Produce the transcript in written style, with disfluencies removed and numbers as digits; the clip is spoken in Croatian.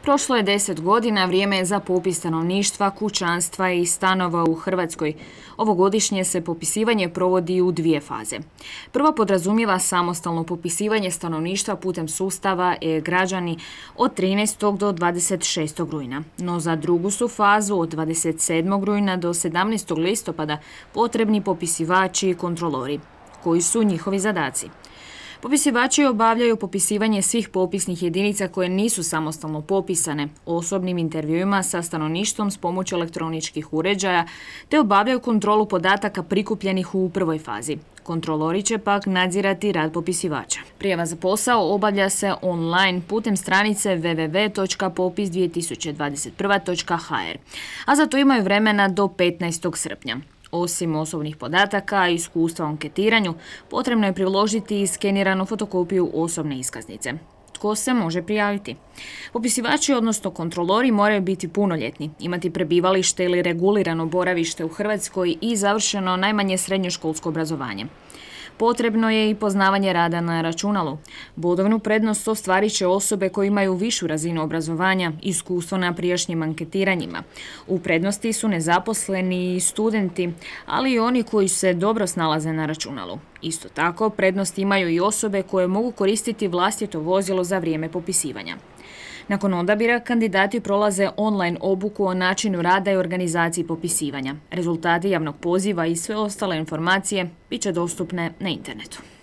Prošlo je 10 godina, vrijeme je za popis stanovništva, kućanstva i stanova u Hrvatskoj. Ovogodišnje se popisivanje provodi u dvije faze. Prva podrazumijeva samostalno popisivanje stanovništva putem sustava e-građani od 13. do 26. rujna. No za drugu su fazu od 27. rujna do 17. listopada potrebni popisivači i kontrolori. Koji su njihovi zadaci? Popisivači obavljaju popisivanje svih popisnih jedinica koje nisu samostalno popisane, osobnim intervjuima sa stanovništvom s pomoću elektroničkih uređaja, te obavljaju kontrolu podataka prikupljenih u prvoj fazi. Kontrolori će pak nadzirati rad popisivača. Prijava za posao obavlja se online putem stranice www.popis2021.hr, a za to imaju vremena do 15. srpnja. Osim osobnih podataka i iskustva u anketiranju, potrebno je priložiti i skeniranu fotokopiju osobne iskaznice. Tko se može prijaviti? Popisivači, odnosno kontrolori, moraju biti punoljetni, imati prebivalište ili regulirano boravište u Hrvatskoj i završeno najmanje srednjoškolsko obrazovanje. Potrebno je i poznavanje rada na računalu. Bodovnu prednost ostvarit će osobe koje imaju višu razinu obrazovanja i iskustvo na prijašnjim anketiranjima. U prednosti su nezaposleni i studenti, ali i oni koji se dobro snalaze na računalu. Isto tako, prednost imaju i osobe koje mogu koristiti vlastito vozilo za vrijeme popisivanja. Nakon odabira, kandidati prolaze online obuku o načinu rada i organizaciji popisivanja. Rezultati javnog poziva i sve ostale informacije bit će dostupne na internetu.